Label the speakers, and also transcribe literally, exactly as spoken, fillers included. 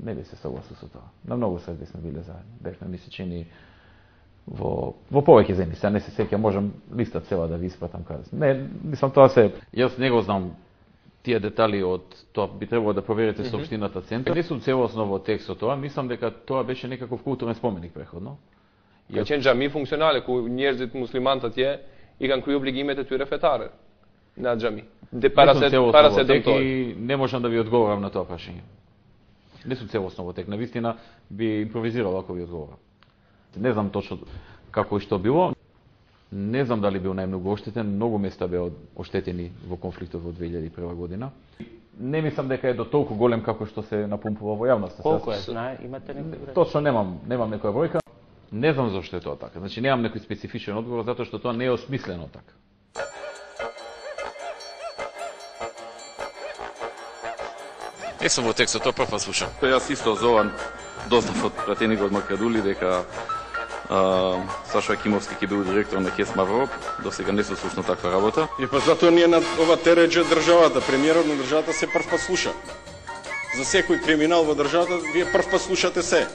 Speaker 1: не би се согласил со тоа. На многу свадби сме биле заедно. Бевме ми се чини во во повеќе земји. Сега не се сеќам, можам листа цела да ви испратам каде. Не, мислам тоа се јас не го знам тие детали од тоа, би требало да проверите mm -hmm. Сопштината центар. Не сум целосно во текстот тоа, мислам дека тоа беше некаков културен споменик преходно.
Speaker 2: Ka qenë xhami funksionale ku njerëzit muslimanë atje i kanë kryer obligimet e tyre fetare në atë xhami. Dhe para se para se dëmtoj.
Speaker 1: Не можам да ви одговорам на тоа прашање. Не сум целосно во тек. Навистина би импровизирал ако ви одговорам. Не знам точно како и што било. Не знам дали бил најмногу оштетен, многу места беа оштетени во конфликтот во две илјади и прва година. Не мислам дека е до толку голем како што се напумпува во јавноста.
Speaker 3: Колку е, знае, имате некој број?
Speaker 1: Точно немам, немам некоја бројка. Не знам зошто е тоа така. Значи немам некој специфичен одговор затоа што тоа не е осмислено така.
Speaker 4: Не сум во текстот, тоа прв пат слушам.
Speaker 5: Јас исто зован дознав од пратеникот Македули дека Uh, Сашо Акимовски ќе бил директор на ХЕС Мавроп, до сега не се слушна таква работа.
Speaker 6: И па затоа ние на ова тереџе државата, премиерот на државата се прв пат слуша. За секој криминал во државата вие прв пат слушате се.